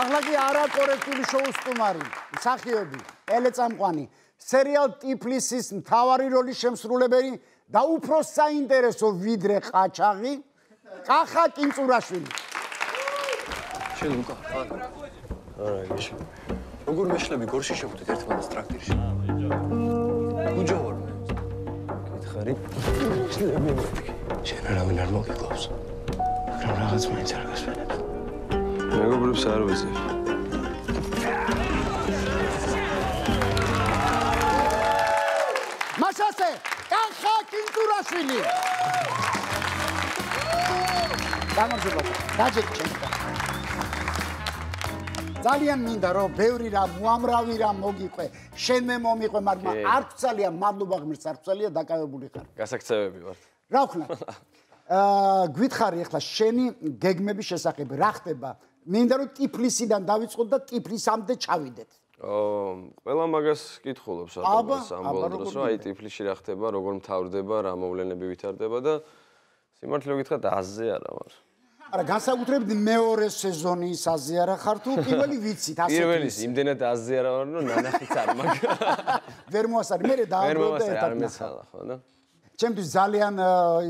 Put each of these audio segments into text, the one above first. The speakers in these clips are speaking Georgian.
ახლა კი არაკორექტული შოუს სტუმარი, მსახიობი, ტელეწამყვანი, სერიალ ტიფლისის მთავარი როლის შემსრულებელი და უფრო საინტერესო ვიდრე ყაჩაღი, კახა კინწურაშვილი. შენ ლუკა, არა, ეშ. როგორ მეშლები გორში შევხვდით ერთმანეთს ტრაქტირში? უჯოვარ მე. გითხარი? შენ არავინ არ მოგიკლავს. მაგრამ რაღაც მაინც არ გასვენებს. მეგობრებს არ ვიცი. მაშასე, კახა კინწურაშვილი. გამარჯობა. დაჯექ ჩემს. ძალიან მინდა რომ ბევრი რამ, უამრავი რამ მოგიყვე, შენ მე მომიყვე, მაგრამ არ ვცალია, მადლობა ღმერთს, არ ვცალია, დაკავებული ხარ. გასაქცევები ვართ. რა ვქნა? გვითხრი ახლა შენი გეგმების შესახებ, რა ხდება? მინდა რომ ტიფლისიდან დავიწყოთ და ტიფლისამდე ჩავიდეთ. ყველა მაგას კითხულობს აბა ამბოლდროს, რომ აი ტიფლისში რა ხდება, როგორ მთავრდება, რა მოვლენები ვითარდება და სიმართლე გითხრათ აზზე არა ვარ. არა, განსაკუთრებით მეორე სეზონის აზზე არა ხარ თუ პირველი ვიცით ასეთი. პირველის იმდენად აზზე არა ვარ, რომ ნანახიც არ მაქვს. ვერ მოასწარი, მე დააბრუნდა ერთად. არ მეცალა ხო და? ჩემთვის ძალიან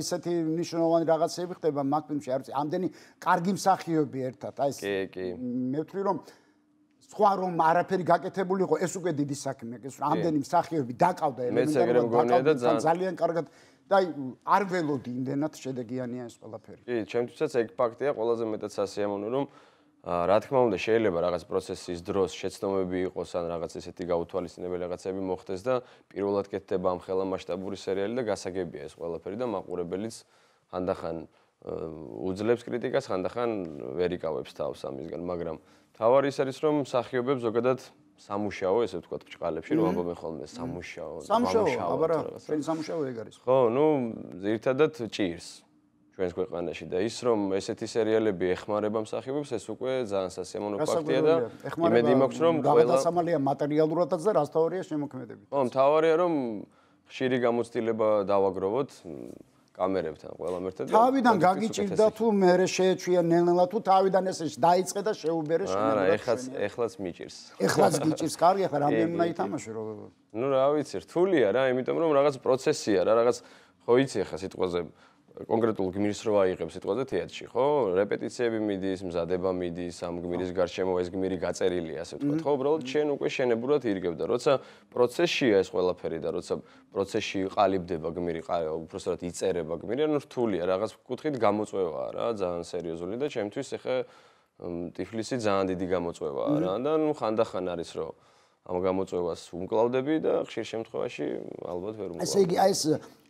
ისეთი მნიშვნელოვანი რაღაცები ხდება მაგ ფილმში, არ ვიცი, ამდენი კარგი მსახიობი ერთად, აი ეს. კი. მე ვთვლი რომ სხვა რომ არაფერი გაკეთებული იყო, ეს უკვე დიდი საქმეა, ეს ამდენი მსახიობი დაკავდა ელემენტარულად, ძალიან კარგად და არ ველოდი იმდენად შედეგიანია ეს ყველაფერი. კი, ჩემთვისაც ეგ ფაქტია, ყველაზე მეტად სასიამოვნო რომ რა თქმა უნდა შეიძლება რაღაც პროცესის დროს შეცდომები იყოს ან რაღაც ესეთი გაუთვალისწინებელი რაღაცები მოხდეს და პირველად კეთდება ამ ხელა მასშტაბური სერიალი და გასაგებია ეს ყველაფერი და მაყურებელიც ხანდახან უძლებს კრიტიკას, ხანდახან ვერ იკავებს თავს ამისგან, მაგრამ თავარი ის არის რომ მსახიობებს ზოგადად სამუშაო, ესე ვთქვათ, ბჭყალებში რომ ამბობენ ხოლმე სამუშაო, აბარა, შენი სამუშაო ეგ არის. ხო, ნუ ძირითადად ჭირს ჩვენს ქვეყანაში და ის რომ ესეთი სერიალები ეხმარება მსახიობებს, ეს უკვე ძალიან სასიამოვნო ფაქტია და იმედი მაქვს რომ ყველა დასამალია მატერიალურადაც და რაც თავარია შემოქმედებით. ხო, მთავარია რომ ხშირი გამოცდილება დავაგროვოთ კამერებთან ყველამ ერთად. თავიდან გაგიჭირდა თუ მე შეეჩვია ნელ-ნელა თუ თავიდან ესე დაიწყე და შეუბერე შენ. არა, ეხლაც მიჭირს. ეხლაც გიჭირს, კარგი, ახლა რამდენი უნდა ითამაშე რო. ნუ რა ვიცი, რთულია რა, იმიტომ რომ რაღაც პროცესია რა, რაღაც ხო იცი ახლა სიტყვაზე კონკრეტულ გმირს რო აიღებს სიტყვაზე თეატრში, ხო? რეპეტიციები მიდის, მზადება მიდის, ამ გმირის გარშემო ეს გმირი გაწერილია, ასე ვთქვათ, ხო? უბრალოდ შენ უკვე შენებურად ირგებ და როცა პროცესშია ეს ყველაფერი და როცა პროცესში ყალიბდება გმირი, უბრალოდ იწერება გმირი, ანუ რთულია, რაღაც კუთხით გამოწვევაა რა, ძალიან სერიოზული და ჩემთვის ახლა ტიფლისი ძალიან დიდი გამოწვევაა რა და ნუ ხანდახან არის რომ ამ გამოწვევას უმკლავდები და ხშირ შემთხვევაში ალბათ ვერ უმკლავდები. ესე იგი, აი ეს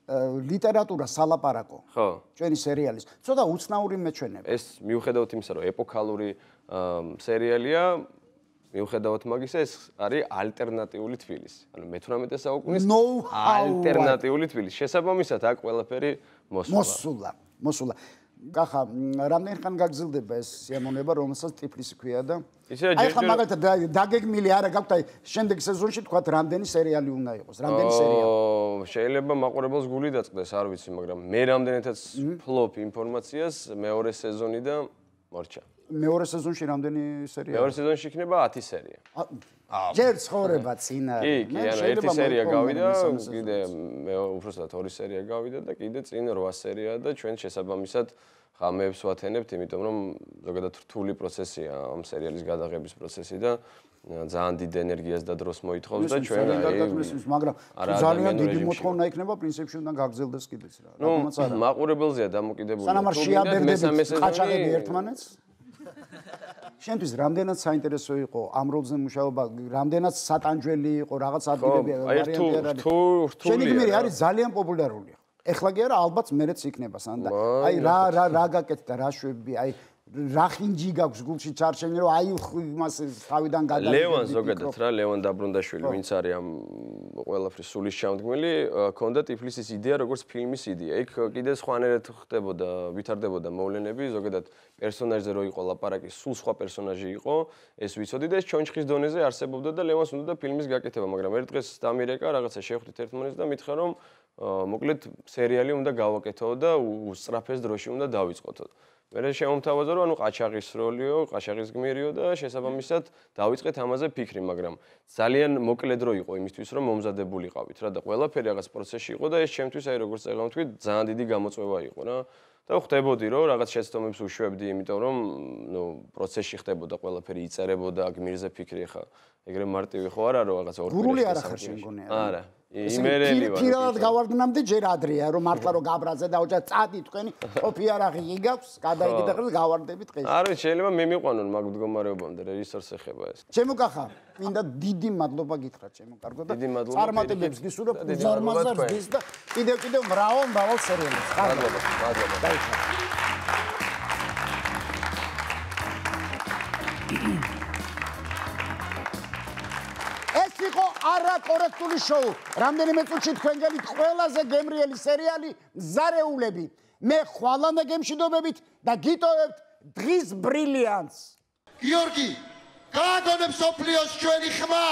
ლიტერატურა სალაპარაკო. ხო. ჩვენი სერიალის. ცოტა უცნაური მეჩვენება. ეს მიუხედავად იმისა, რომ ეპოქალური სერიალია, მიუხედავად მაგისა, ეს არის ალტერნატიული თბილისი. ანუ მე-18 საუკუნის ალტერნატიული თბილისი. შესაბამისად, აქ ყველაფერი მოსულა. კახა, რამდენი ხანი გაგრძელდება ეს სიამოვნება, რომელსაც ტიფლისი ქვია და აი ხა მაგალითად დაგეგმილი არა გაქვთ აი შემდეგ სეზონში თქვათ რამდენი სერიალი უნდა იყოს, რამდენი სერიალი. შეიძლება მაყურებელს გული დაწყდეს, არ ვიცი, მაგრამ მე რამდენადაც ფლოპ ინფორმაციას მეორე სეზონი და მორჩა. მეორე სეზონში რამდენი სერიალი? მეორე სეზონში იქნება 10 სერია. ჯერ ცხოვრება წინა. კი, ანუ ერთი სერია გავიდა, კიდე მე უბრალოდ 2 სერია გავიდა და კიდე წინ 8 სერია და ჩვენ შესაბამისად ხამეებს ვათენებთ, იმიტომ რომ ზოგადად რთული პროცესია ამ სერიალის გადაღების პროცესი და ძალიან დიდ ენერგიას და დროს მოითხოვს და ჩვენ მაგრამ ძალიან დიდი მოთხოვნა იქნება პრინციპში უნდა გაგრძელდეს კიდეც რა. რატომაც არა. მაყურებელზეა დამოკიდებული. სანამ არ შეაბერდებით ყაჩაღები ერთმანეთს. შენთვის რამდენად საინტერესო იყო ამ როლზე მუშაობა, რამდენად სატანჯველი იყო, რაღაც ადგილები ვარიანტი არ არის. შენი გმირი არის ძალიან პოპულარული. ეხლა კი არა, ალბათ მერეც იქნება სანდა. აი რა გაკეთდა, რა შვები, აი რა ხინჯი გაქვს გულში ჩარჩენი, რომ აი იმას თავიდან გადაგიდგა. ლევან ზოგადად რა, ლევან დაბრუნდაშვილი, ვინც არის ამ ყველაფრის სულის ჩამდგმელი, ქონდა ტიფლისის იდეა, როგორც ფილმის იდეა. იქ კიდე სხვანაირად ხდებოდა, ვითარდებოდა მოვლენები, ზოგადად პერსონაჟზე რო იყო ლაპარაკი, სულ სხვა პერსონაჟი იყო, ეს ვიცოდი და ეს ჩონჩხის დონეზე არსებობდა და ლევანს უნდა ფილმის გაკეთება, მაგრამ ერთ დღეს დამირეკა, რაღაცა შევხვდით ერთმანეთს და მითხრა რომ მოკლედ სერიალი უნდა გავაკეთო და უსწრაფეს დროში უნდა დავიწყოთ. მე შემომთავაზა რომ ანუ ყაჩაღის როლიო, ყაჩაღის გმირიო და შესაბამისად დავიწყეთ ამაზე ფიქრი, მაგრამ ძალიან მოკლე დრო იყო იმისთვის რომ მომზადებულიყავით რა და ყველაფერი რაღაც პროცესში იყო და ეს ჩემთვის აი როგორც წეგავ თქვი ძალიან დიდი გამოწვევა იყო რა და ხვდებოდი რომ რაღაც შეცდომებს უშვებდი, იმიტომ რომ ნუ პროცესში ხდებოდა ყველაფერი იწერებოდა გმირზე ფიქრი ხა ეგრე მარტივი ხო არა რომ რაღაც ორ გურული არ ახარ შემგონია არა იმერელი ვარ პირადად გავარდნამდე ჯერ ადრეა რომ მართლა რომ გაბრაზე და ოჯახ წადი თქვენი ყოფი არაღი იგავს გადაიგეთ ახლა გავარდებით დღეს არ ვიცი შეიძლება მე მიყვანონ მაგ მდგომარეობამდე რეჟისორს ეხება ეს ჩემო კახა მინდა დიდი მადლობა გითხრათ ჩემო კარგო და წარმატებებს გისურვებ ზარმაზარს გის და კიდევ მრავალ სერიალებს მადლობა ეს იყო არაკორექტული შოუ. რამდენიმე წუთში თქვენ გელით ყველაზე გემრიელი სერიალი მზარეულები. მე ხვალამდე გემშვიდობებით და გიტოვებთ დღის ბრილიანტს. გიორგი, გააგონებს სოფლიოს ჩვენი ხმა.